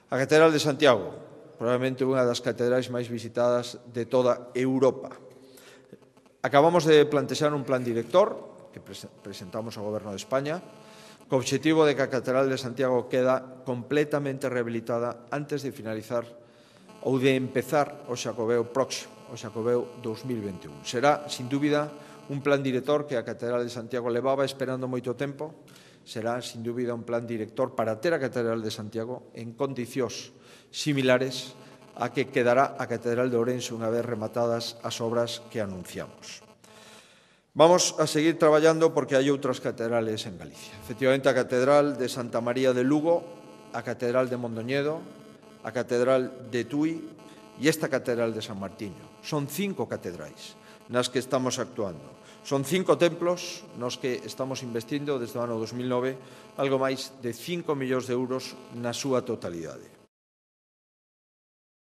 A Catedral de Santiago, probablemente unha das catedrais máis visitadas de toda Europa. Acabamos de plantexar un plan director que presentamos ao Goberno de España co obxectivo de que a Catedral de Santiago queda completamente rehabilitada antes de finalizar ou de empezar o Xacobeo próximo, o Xacobeo 2021. Será, sin dúbida, un plan director que a Catedral de Santiago levaba esperando moito tempo. Será, sin dúbida, un plan director para ter a Catedral de Santiago en condicións similares a que quedará a Catedral de Ourense unha vez rematadas as obras que anunciamos. Vamos a seguir traballando porque hai outras catedrales en Galicia. Efectivamente, a Catedral de Santa María de Lugo, a Catedral de Mondoñedo, a Catedral de Tui e esta Catedral de San Martiño. Son 5 catedrais nas que estamos actuando. Son 5 templos nos que estamos investindo desde o ano 2009 algo máis de 5 millóns de euros na súa totalidade.